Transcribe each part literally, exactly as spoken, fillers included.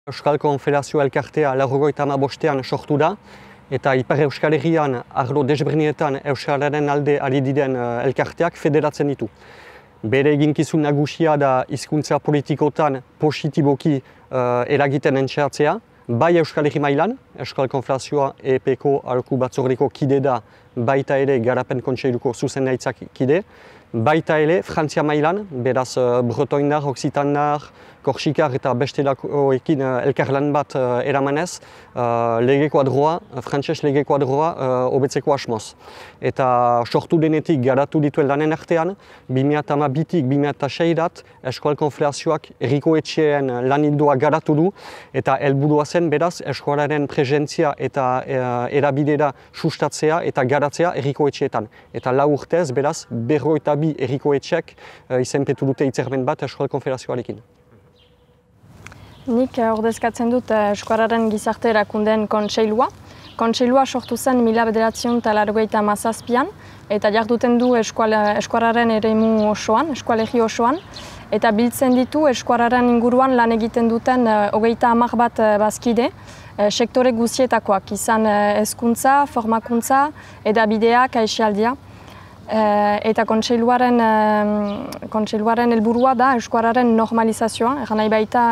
Euskal Konfederazio Elkartea laurogeita hamabostean sortu da, eta Ipar Euskal Herrian arlo desberdinetan Euskararen alde ari diren elkarteak federatzen ditu. Bere eginkizun nagusia da hizkuntza politikotan positiboki uh, eragiten entxeatzea, bai Euskal Herri mailan, Euskal Konfederazioa E P Ko aholku batzordeko kide da, baita ere Garapen Kontseiluko zuzendaritzak kide, baita ere Frantzia mailan, beraz uh, bretoindar, oksitandar, korsikar eta bestelakoekin uh, elkarlan bat uh, eramanez, uh, lege kuadroa, frantses lege kuadroa hobetzeko uh, asmoz. Eta sortu denetik garatu dituen lanen artean, bi mila hamabitik bi mila seirat Euskal Konfederazioak herriko etxeen lan ildoa garatu du, eta helburua zen beraz euskararen presentzia eta uh, erabidera sustatzea eta garatzea herriko etxeetan. Eta lau urtez beraz berrogeita bi herriko etxek uh, izenpetu dute hitzarmen bat Euskal Konfederazioarekin. Nik ordezkatzen dut Euskararen Gizarte Erakundeen Kontseilua. Kontseilua sortu zen mila bederatziehun eta laurogeita hamazazpian eta jarduten du Euskararen eremu osoan, eskualegi osoan, eta biltzen ditu Euskararen inguruan lan egiten duten hogeita hamar bat bazkide, sektore guztietakoak, izan hezkuntza, formakuntza, edabideak, aisialdia. Eta kontseiluaren kontseiluaren helburua da euskararen normalizazioa, egan nahi baita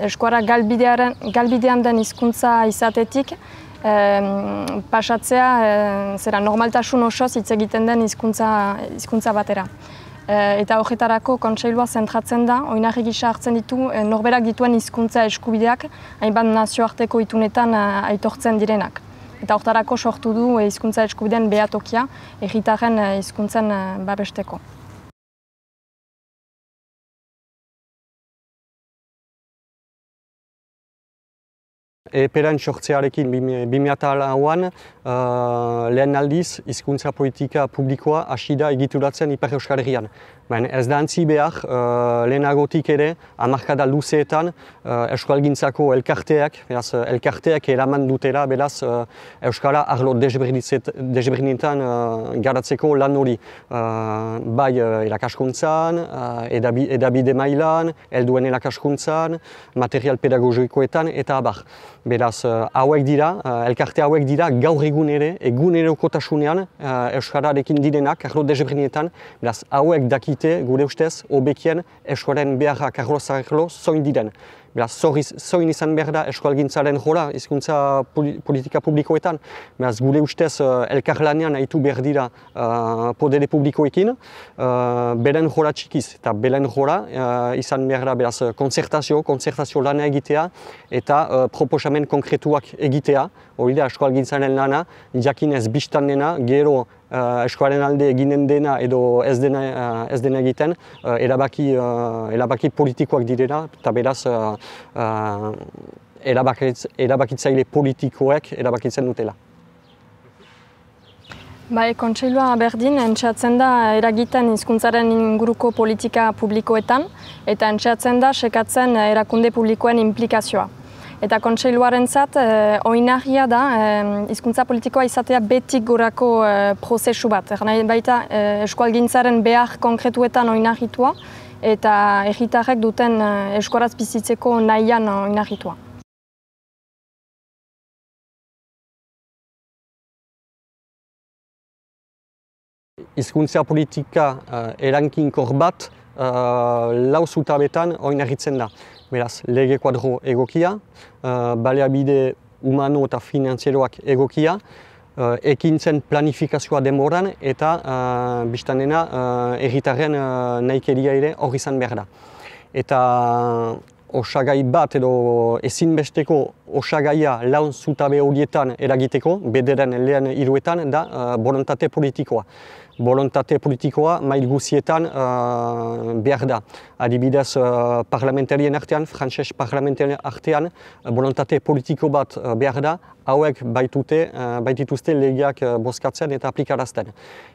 euskara galbidean den hizkuntza izatetik pasatzea zera normaltasun osoz hitz egiten den hizkuntza batera. Eta horretarako kontseilua zentratzen da, oinarri gisa hartzen ditu norberak dituen hizkuntza eskubideak hainbat nazioarteko itunetan aitortzen direnak. Eta horretarako sortu du hizkuntza eskubideen behatokia herritarren hizkuntzen babesteko. E P-ren sortzearekin bi mila lauan uh, lehen aldiz hizkuntza politika publikoa hasi da egituratzen Ipar Euskal Herrian. Baina ez da antzi behar, uh, lehenagotik ere, hamarkada luzeetan uh, euskalgintzako elkarteak, beraz, elkarteak eraman dutera, beraz, uh, euskara arlo desberdinetan uh, garatzeko lan hori. Uh, bai uh, erakaskuntzan, uh, edabi, edabide mailan, helduen erakaskuntzan, material pedagogikoetan eta abar. Beraz, uh, hauek dira, uh, elkarte hauek dira gaur egun ere, egunerokotasunean uh, euskararekin direnak, arlo desberdinetan, beraz, hauek dakite gure ustez, hobekien euskararen beharrak arlo-zarlo zoin diren. Beraz, zoin izan behar da euskalgintzaren jola, hizkuntza politika publikoetan. Beraz, gure ustez elkarlanean haitu behar dira uh, podere publikoekin, uh, beren jola txikiz. Eta beren jola uh, izan behar da beraz, konzertazio, konzertazio lana egitea eta uh, proposamen konkretuak egitea. Hori da, euskalgintzaren lana, jakinez biztan dena, gero Uh, eskuaren alde eginen dena edo ez dena, uh, ez dena egiten, uh, erabaki, uh, erabaki politikoak direla, eta beraz uh, uh, erabakitz, erabakitzaile politikoek erabakitzen dutela. Bai, kontseilua berdin entxeatzen da eragiten hizkuntzaren inguruko politika publikoetan, eta entxeatzen da sekatzen erakunde publikoen implikazioa. Eta kontseiluarentzat eh, oinarria da hizkuntza eh, politikoa izatea betik gorako eh, prozesu bat. Nahi baita eh, eskualgintzaren behar konkretuetan oinarritua eta herritarrek duten eh, euskaraz bizitzeko nahian oinarritua. Hizkuntza politika uh, erankinkor bat uh, lau zutabetan oinarritzen da. Beraz, lege kuadro egokia, uh, baliabide humano eta finanzieroak egokia, uh, ekintzen planifikazioa denboran eta uh, biztan dena herritarren uh, uh, nahikeria ere hor izan behar da. Eta osagai bat edo ezinbesteko osagaia laun zutabe horietan eragiteko, bederen lehen hiruetan da uh, borontate politikoa. Borontate politikoa mail guzietan uh, behar da. Adibidez, uh, parlamentarien artean, frantses parlamentarien artean, uh, borontate politiko bat uh, behar da, hauek baitute, uh, baitituzte legeak uh, bozkatzen eta aplikarazten.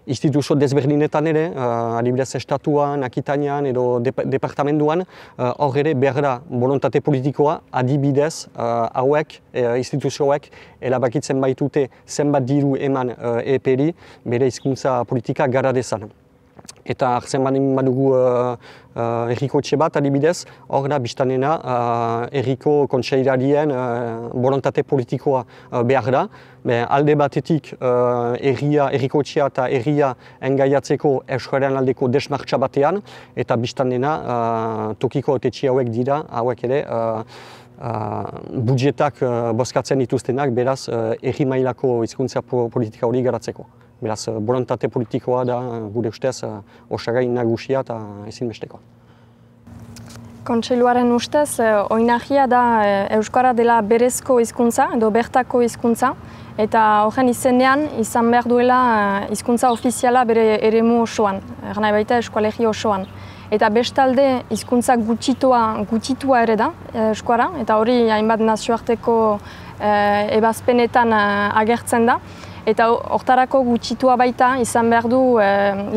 Instituzio desberdinetan ere, uh, adibidez estatuan, Akitanian edo dep departamentuan, hor uh, ere behar da borontate politikoa, adibidez uh, hauek, uh, instituzioek, erabakitzen baitute zenbat diru eman uh, E P-ri bere hizkuntza politika gara dezan. Eta hartzen badugu uh, uh, erriko etxe bat, adibidez, hor da biztanena uh, erriko kontseillarien uh, borontate politikoa uh, behar da. Be, alde batetik uh, erria, erriko etxea eta erria engaiatzeko euskararen aldeko desmartxa batean, eta biztanena uh, tokiko etxe hauek dira, hauek ere, uh, uh, budjetak uh, bozkatzen dituztenak, beraz uh, erri mailako hizkuntza politika hori garatzeko. Beraz, borontate politikoa da, gure ustez, osagai nagusia eta ezinbestekoa. Kontseiluaren ustez, oinahia da euskara dela berezko hizkuntza edo bertako hizkuntza, eta horren izenean izan behar duela hizkuntza ofiziala bere eremu osoan, nahi baita eskoalegi osoan. Eta bestalde hizkuntza gutxitua, gutxitua ere da euskara, eta hori hainbat nazioarteko ebazpenetan agertzen da. Eta hortarako gutxitua baita izan behar du e,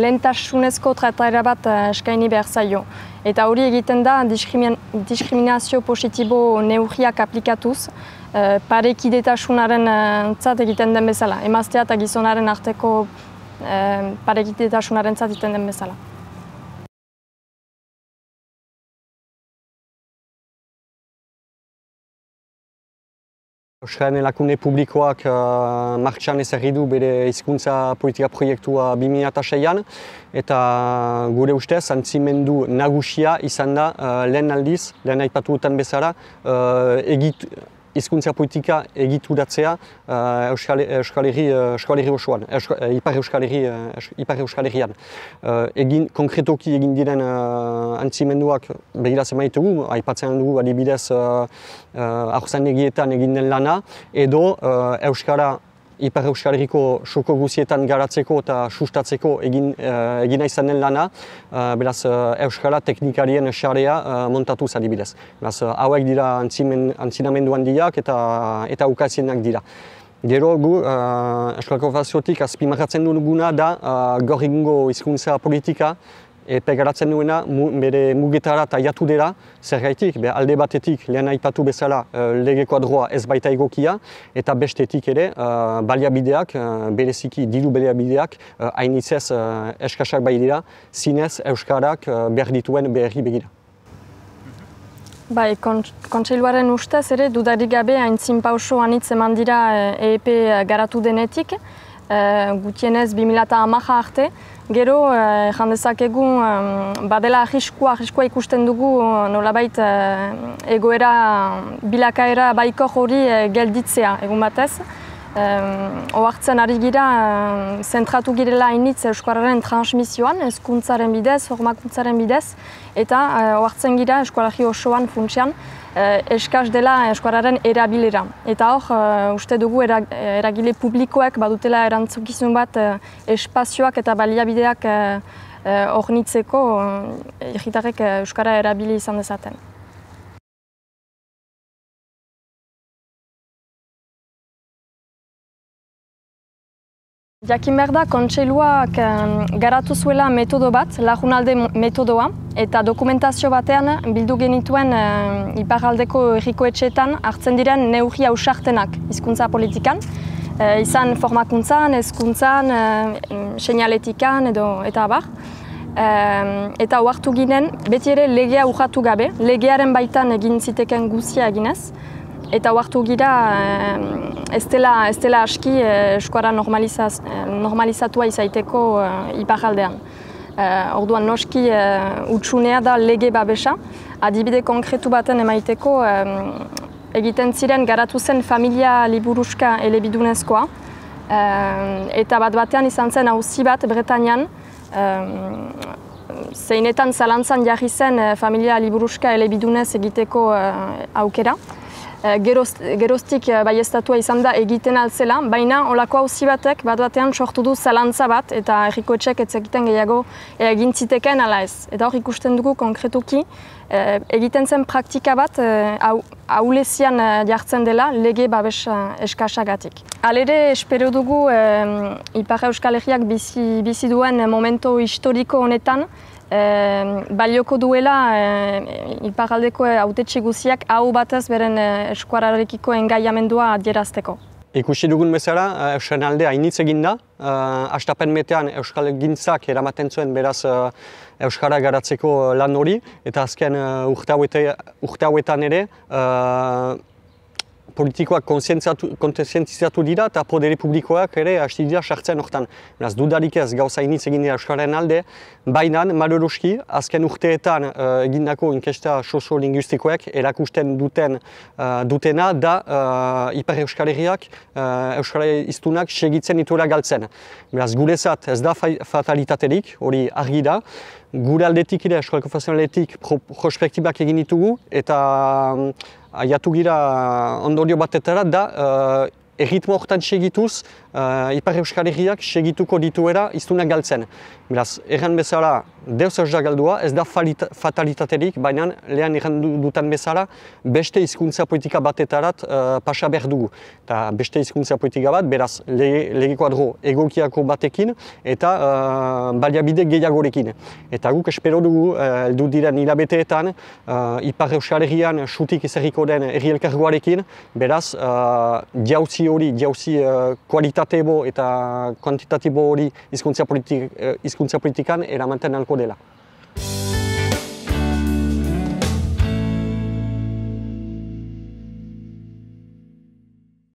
lehentasunezko trataera bat eskaini behar zaio. Eta hori egiten da diskrimin, diskriminazio positibo neurriak aplikatuz, e, parekidetasunaren zat egiten den bezala. Emaztea eta gizonaren arteko e, parekidetasunaren zat egiten den bezala. Euskararen erakunde publikoak uh, martxan ezarri du bere hizkuntza politika proiektua bi mila seian, eta gure ustez antzimendu nagusia izan da uh, lehen aldiz, lehen aipatu dutan bezala, uh, egit, hizkuntza politika egituratzea uh, Euskal, Euskal Herri, Euskal Herri osoan, Euskal, Ipar Euskal Herri, Ipar Euskal Herrian. Uh, egin, konkretoki egin diren uh, antzimenduak begiratzen maitugu, aipatzen dugu adibidez uh, uh, aurzaindegietan egin den lana, edo uh, Euskara Ipar Euskal Herriko soko guzietan garatzeko eta sustatzeko egin, uh, egina izan den lana, uh, beraz uh, Euskara teknikarien sarea uh, montatuz adibidez. Beraz uh, hauek dira antzimen, antzinamendu handiak eta, eta ukazienak dira. Gero gu, uh, Euskal Konfederaziotik azpimarratzen duguna da uh, gaur egungo hizkuntza politika, eta garatzen duena mu, bere mugetara eta jatu dela, zergaitik, be, alde batetik lehen aipatu bezala uh, lege kuadroa ez baita egokia, eta bestetik ere uh, baliabideak, uh, bereziki diru baliabideak, uh, hainitzez uh, eskasak bai dira, zinez Euskarak uh, behar dituen beharri begira. Bai, kontseiluaren ustez ere dudarik gabe aintzin pauso anitz eman dira E E P garatu denetik, uh, gutienez bi mila hamaika arte. Gero, eh, jandezakegu, eh, badela arriskua, arriskua ikusten dugu nolabait eh, egoera bilakaera baiko hori eh, gelditzea egun batez. Eh, Ohartzen ari gira, eh, zentratu girela hainitz euskararen transmisioan, hezkuntzaren bidez, formakuntzaren bidez, eta eh, ohartzen gira eskoalegi osoan funtsean, eh, eskas dela euskararen erabilera. Eta hor, eh, uste dugu era, eragile publikoek badutela erantzukizun bat eh, espazioak eta baliabideak hornitzeko eh, herritarrek eh, euskara erabili izan dezaten. Jakin behar da, kontseiluak garatu zuela metodo bat, lagunalde metodoa, eta dokumentazio batean bildu genituen iparraldeko herriko etxeetan hartzen diren neurri ausartenak hizkuntza politikan, izan formakuntzan, hezkuntzan, seinaletikan edo eta abar. Eta ohartu ginen, beti ere legea urratu gabe, legearen baitan egin ziteken guzia eginez. Eta ohartu gira ez dela, ez dela aski euskara normalizaz, normalizatua izaiteko iparraldean. Orduan noski utsunea da lege babesa, adibide konkretu baten emaiteko egiten ziren garatu zen familia liburuska elebidunezkoa, eta bat batean izan zen auzi bat Bretañan, zeinetan zalantzan jarri zen familia liburuska elebidunez egiteko aukera. Geroz, geroztik baieztatua izan da egiten altzela, baina olako auzi batek bat batean sortu du zalantza bat eta herriko etxek ez egiten gehiago egin ziteken ala ez. Eta hor ikusten dugu konkretuki egiten zen praktika bat ahulezian jartzen dela lege babes eskasagatik. Halere espero dugu Ipar Euskal Herriak bizi, bizi duen momento historiko honetan E, balioko duela e, iparraldeko hautetxe guziak hau batez beren eskuararekiko engaiamendua adierazteko. Ikusi dugun bezala, Euskal alde hainitz egin da. Hastapen metean Euskal gintzak eramaten zuen beraz Euskara garatzeko lan hori, eta azken urte hauetan ere politikoak kontzientziatu dira eta podere publikoak ere hasti dira sartzen hortan. Beraz, dudarik ez gauza hainitz egin dira Euskararen alde, baina maloroski azken urteetan egindako inkesta soziolinguistikoek erakusten duten dutena da Ipar Euskal Herriak Euskara hiztunak segitzen dituela galtzen. Beraz, guretzat ez da fatalitaterik, hori argi da. Gure aldetik ere, Eskola Konfesionaletik prospektibak egin ditugu eta aiatu gira ondorio batetara da erritmo horretan segituz Ipar Euskal Herriak segituko dituera hiztunak galtzen. Beraz, erran bezala deus ez da galdua, ez da fatalitaterik, baina lehen erran dutan bezala beste hizkuntza politika batetarat pasa behar dugu. Eta beste hizkuntza politika bat, beraz, lege kuadro egokiako batekin eta baliabide gehiagorekin. Eta guk espero dugu, heldu diren hilabeteetan, Ipar Euskal Herrian sutik ezerriko den herri elkargoarekin, beraz, jauzi hori, jauzi kualitatebo eta kuantitatibo hori hizkuntza politikan eramaten alko dela.